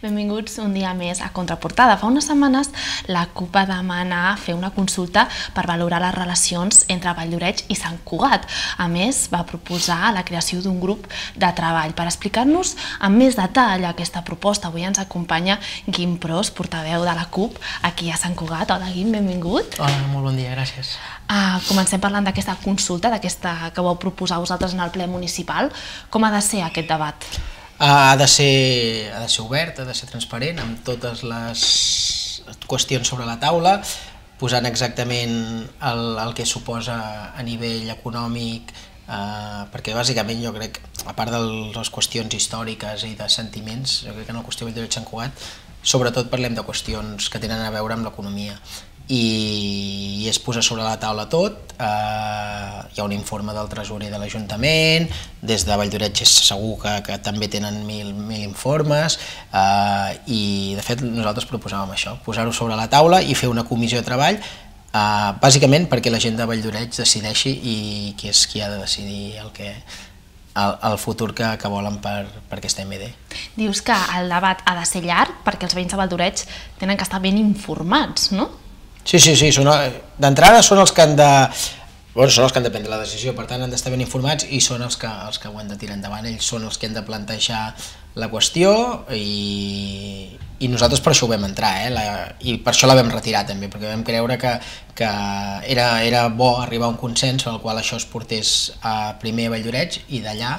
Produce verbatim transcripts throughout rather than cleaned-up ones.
Benvinguts un dia més a Contraportada. Fa unes setmanes la CUP va demanar fer una consulta per valorar les relacions entre Vall-lloreig i Sant Cugat. A més, va proposar la creació d'un grup de treball. Per explicar-nos amb més detall aquesta proposta, avui ens acompanya Guim Pros, portaveu de la CUP aquí a Sant Cugat. Hola Guim, benvingut. Hola, molt bon dia, gràcies. Uh, comencem parlant d'aquesta consulta, d'aquesta que vau proposar vosaltres en el ple municipal. Com ha de ser aquest debat? Ha de ser, ha de ser obert, ha de ser transparent, amb totes les qüestions sobre la taula, posant exactament el, el que suposa a nivell econòmic, eh, perquè bàsicament jo crec, a part de les qüestions històriques i de sentiments, jo crec que en la qüestió de Vall-lloreig-Sant Cugat, sobretot parlem de qüestions que tenen a veure amb l'economia. I es posa sobre la taula tot, eh, hi ha un informe del tresorer de l'Ajuntament, des de Vall-lloreig és segur que, que també tenen mil, mil informes, eh, i de fet nosaltres proposàvem això, posar-ho sobre la taula i fer una comissió de treball, eh, bàsicament perquè la gent de Vall-lloreig decideixi i qui és qui ha de decidir el que... El, el futur que, que volen per, per aquesta M D. Dius que el debat ha de ser llarg perquè els veïns de Vall-lloreig tenen que estar ben informats, no? Sí, sí, sí, d'entrada són els que han de... Bueno, són els que han de prendre la decisió, per tant han d'estar ben informats i són els que, els que ho han de tirar endavant, ells són els que han de plantejar la qüestió i, i nosaltres per això ho vam entrar, eh? la, i per això la vam retirar també, perquè vam creure que, que era, era bo arribar a un consens en el qual això es portés a primer a Vall-lloreig i d'allà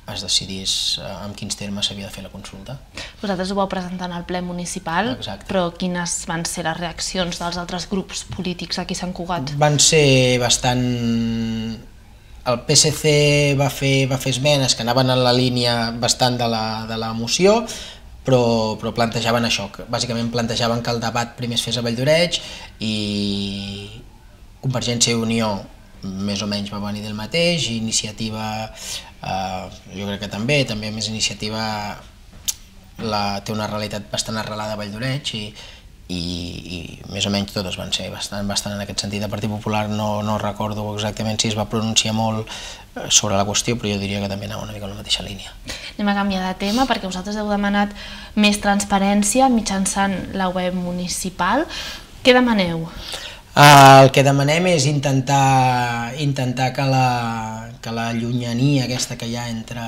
es decidís en quins termes s'havia de fer la consulta. Vosaltres ho vau presentar al ple municipal, Exacte. Però quines van ser les reaccions dels altres grups polítics aquí a Sant Cugat? Van ser bastant... El P S C va fer, va fer esmenes que anaven en la línia bastant de la, de la moció, però, però plantejaven això, que bàsicament plantejaven que el debat primer es fes a Vall-lloreig i Convergència i Unió més o menys va venir del mateix, i Iniciativa eh, jo crec que també, també més Iniciativa la, té una realitat bastant arrelada a Vall-lloreig i, i, i més o menys totes van ser bastant, bastant en aquest sentit. El Partit Popular no, no recordo exactament si es va pronunciar molt sobre la qüestió, però jo diria que també anava una mica en la mateixa línia. Anem a canviar de tema perquè vosaltres heu demanat més transparència mitjançant la web municipal. Què demaneu? El que demanem és intentar, intentar que, la, que la llunyania aquesta que hi ha entre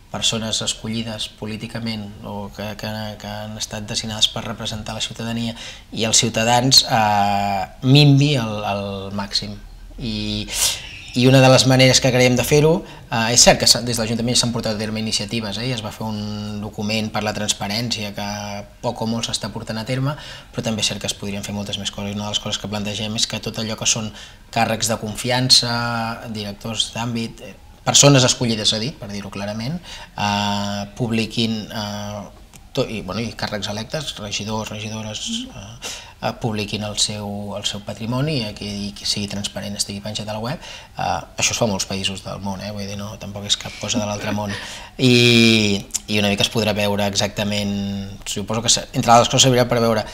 persones escollides políticament o que, que, que han estat designades per representar la ciutadania i els ciutadans eh, minvi al, al màxim. I, I una de les maneres que creiem de fer-ho, eh, és cert que des de l'Ajuntament s'han portat a terme iniciatives, eh, i es va fer un document per la transparència que poc o molt s'està portant a terme, però també és cert que es podrien fer moltes més coses. Una de les coses que plantegem és que tot allò que són càrrecs de confiança, directors d'àmbit, persones escollides a dit, per dir-ho clarament, eh, publiquin, eh, tot, i, bueno, i càrrecs electes, regidors, regidores, eh, eh, publiquin el seu, el seu patrimoni i que, i que sigui transparent, estigui penjat a la web. Eh, això es fa a molts països del món, eh? Vull dir, no, tampoc és cap cosa de l'altre món. I, I una mica es podrà veure exactament, suposo que entre les coses servirà per veure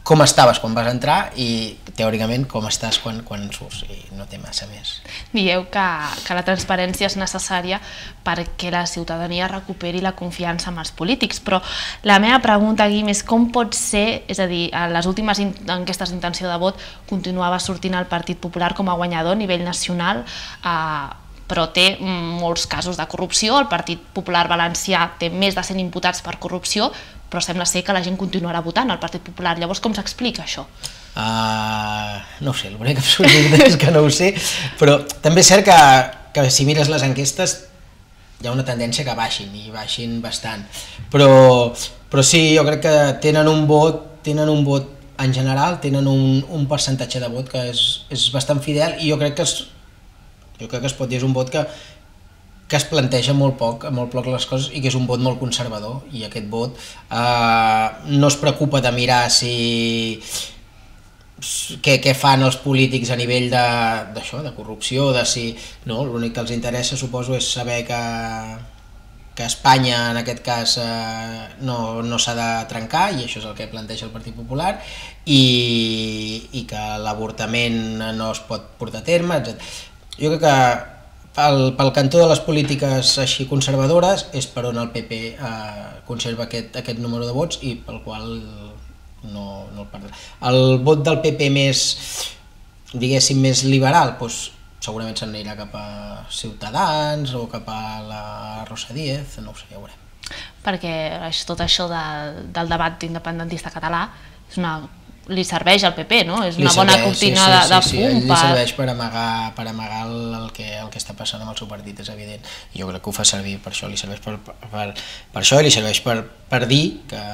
com estaves quan vas entrar i teòricament com estàs quan, quan surts, i no té massa més. Dieu que, que la transparència és necessària perquè la ciutadania recuperi la confiança en els polítics, però la meva pregunta, Guim, és com pot ser, és a dir, a les últimes enquestes d'intenció de vot continuava sortint el Partit Popular com a guanyador a nivell nacional, eh, però té molts casos de corrupció, el Partit Popular Valencià té més de cent imputats per corrupció, però sembla ser que la gent continuarà votant al Partit Popular. Llavors, com s'explica això? Uh, no ho sé, l'únic absurd és que no ho sé, però també és cert que, que si mires les enquestes hi ha una tendència que baixin, i baixin bastant, però, però sí, jo crec que tenen un vot, tenen un vot en general, tenen un, un percentatge de vot que és, és bastant fidel, i jo crec que es, jo crec que es pot dir és un vot que que es planteja molt poc, molt poc les coses, i que és un vot molt conservador, i aquest vot eh, no es preocupa de mirar si què, què fan els polítics a nivell de, d'això, de corrupció, de si... No, l'únic que els interessa, suposo, és saber que, que Espanya, en aquest cas, eh, no, no s'ha de trencar, i això és el que planteja el Partit Popular, i, i que l'avortament no es pot portar a terme, etcètera. Jo crec que pel, pel cantó de les polítiques així conservadores és per on el P P eh, conserva aquest, aquest número de vots i pel qual no, no el perdrà. El vot del P P més, diguéssim, més liberal, doncs, segurament se'n anirà cap a Ciutadans o cap a la Rosa Díez, no ho sé, ja ho veurem. Perquè tot això de, del debat independentista català és una, li serveix al P P, no? És una bona cortina de, de fum. Sí, sí, li serveix per amagar, per amagar el, que, el que està passant amb el seu partit, és evident. I jo crec que ho fa servir per això, li serveix per, per, per això i li serveix per, per dir que,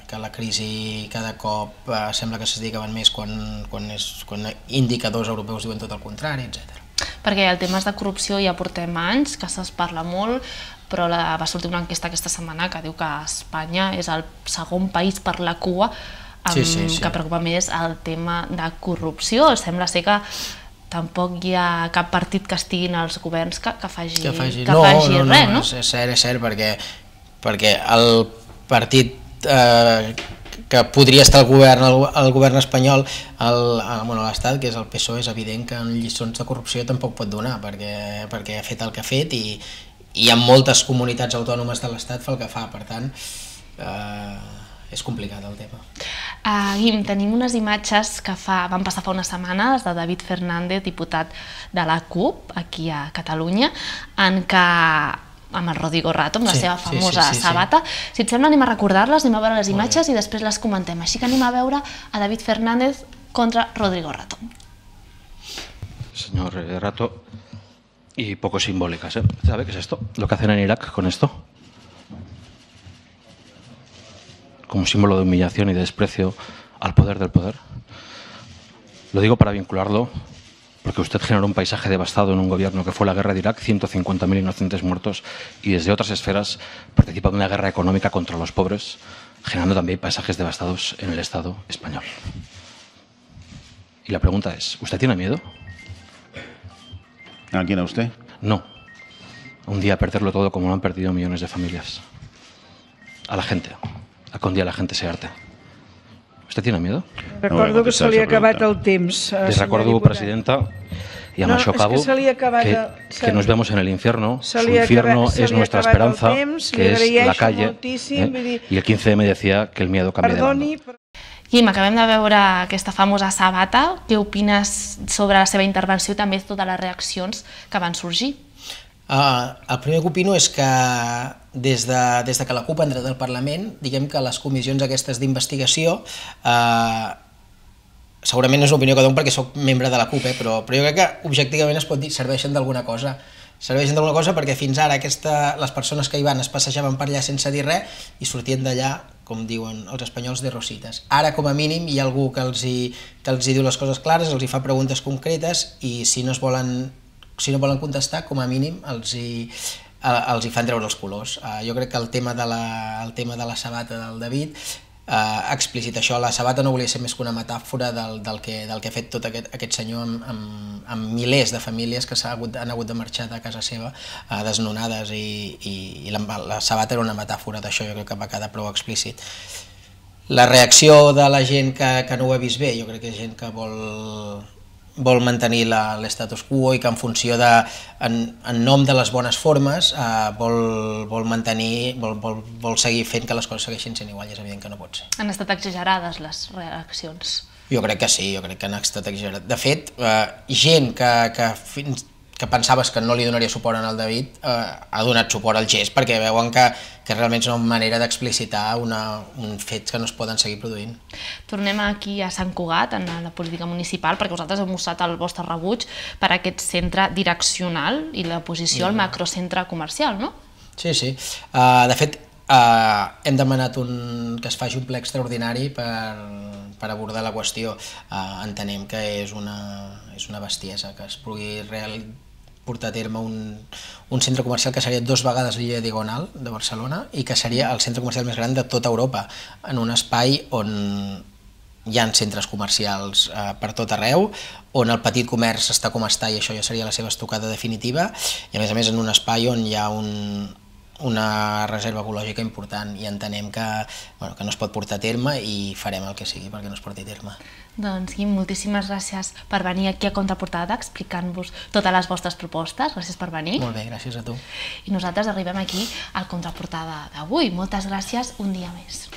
que la crisi cada cop eh, sembla que s'estigui acabant més quan, quan, és, quan indicadors europeus diuen tot el contrari, etcètera. Perquè el tema de corrupció ja portem anys, que se'n parla molt, però la, va sortir una enquesta aquesta setmana que diu que Espanya és el segon país per la cua amb, sí, sí, sí. que preocupa més el tema de corrupció. Sembla ser que tampoc hi ha cap partit que estigui en els governs que, que faci, que faci, que no, faci no, res, no? no? És cert, és cert, perquè, perquè el partit eh, que podria estar al govern, al govern espanyol, el, el, bueno, l'Estat, que és el P S O E, és evident que en lliçons de corrupció tampoc pot donar, perquè, perquè ha fet el que ha fet i, i en moltes comunitats autònomes de l'Estat fa el que fa, per tant, eh, és complicat el tema. Uh, Guim, tenim unes imatges que fa, van passar fa unes setmanes de David Fernández, diputat de la CUP, aquí a Catalunya, en què amb el Rodrigo Rato, amb la sí, seva famosa sí, sí, sí, sabata. Sí. Si et sembla, anem a recordar-les, anem a veure les imatges i després les comentem. Així que anem a veure a David Fernández contra Rodrigo Rato. Señor Rato, y poco simbólicas, ¿eh? ¿Sabe qué es esto? Lo que hacen en Irak con esto. Como símbolo de humillación y de desprecio al poder del poder. Lo digo para vincularlo, porque usted generó un paisaje devastado en un gobierno que fue la guerra de Irak, ciento cincuenta mil inocentes muertos, y desde otras esferas participa de una guerra económica contra los pobres, generando también paisajes devastados en el Estado español. Y la pregunta es, ¿usted tiene miedo? ¿A quién, a usted? No. Un día perderlo todo como lo han perdido millones de familias. A la gente. A que un dia la gent se arte. ¿Usted tiene miedo? Recordo que se li ha acabat el temps. Les recordo, presidenta, y amb això acabo, que, que nos vemos en el infierno. Su infierno es nuestra esperanza, que es la calle. ¿eh? Y el quince eme decía que el miedo cambia de bando. Guim, acabem de veure aquesta famosa sabata. Què opines sobre la seva intervenció i també totes les reaccions que van sorgir? Uh, el primer que opino és que des de, des de que la CUP ha entrat al Parlament, diguem que les comissions aquestes d'investigació, uh, segurament no és l'opinió que dono perquè soc membre de la CUP, eh, però, però jo crec que objectivament es pot dir serveixen d'alguna cosa. Serveixen d'alguna cosa perquè fins ara aquesta, les persones que hi van es passejaven per allà sense dir res i sortien d'allà, com diuen els espanyols, de rosites. Ara, com a mínim, hi ha algú que els hi, que els hi diu les coses clares, els hi fa preguntes concretes i si no es volen si no volen contestar, com a mínim els hi, els hi fan treure els colors. Uh, jo crec que el tema de la, el tema de la sabata del David uh, explicita això. La sabata no volia ser més que una metàfora del, del, que, del que ha fet tot aquest, aquest senyor amb, amb, amb milers de famílies que hagut, han hagut de marxar de casa seva uh, desnonades i, i, i la, la sabata era una metàfora d'això, jo crec que va quedar prou explícit. La reacció de la gent que, que no ho ha vist bé, jo crec que és gent que vol... vol mantenir l'estatus quo i que en funció de, en, en nom de les bones formes, eh, vol, vol mantenir, vol, vol, vol seguir fent que les coses segueixin sent igual, i és evident que no pot ser. Han estat exagerades les reaccions? Jo crec que sí, jo crec que han estat exagerades. De fet, eh, gent que, que fins que pensaves que no li donaria suport al David, eh, ha donat suport al gest perquè veuen que, que realment és una manera d'explicitar uns fets que no es poden seguir produint. Tornem aquí a Sant Cugat, en la política municipal, perquè vosaltres heu mostrat el vostre rebuig per aquest centre direccional i l'oposició al macrocentre comercial, no? Sí, sí. Uh, de fet, uh, hem demanat un, que es faci un ple extraordinari per, per abordar la qüestió. Uh, entenem que és una, és una bestiesa que es pugui realitzar portar a terme un, un centre comercial que seria dues vegades l'illa Diagonal de Barcelona i que seria el centre comercial més gran de tota Europa, en un espai on hi ha centres comercials eh, per tot arreu, on el petit comerç està com està i això ja seria la seva estocada definitiva, i a més a més en un espai on hi ha un, una reserva ecològica important i entenem que, bueno, que no es pot portar a terme i farem el que sigui perquè no es porti a terme. Doncs, Guim, moltíssimes gràcies per venir aquí a Contraportada explicant-vos totes les vostres propostes. Gràcies per venir. Molt bé, gràcies a tu. I nosaltres arribem aquí al Contraportada d'avui. Moltes gràcies un dia més.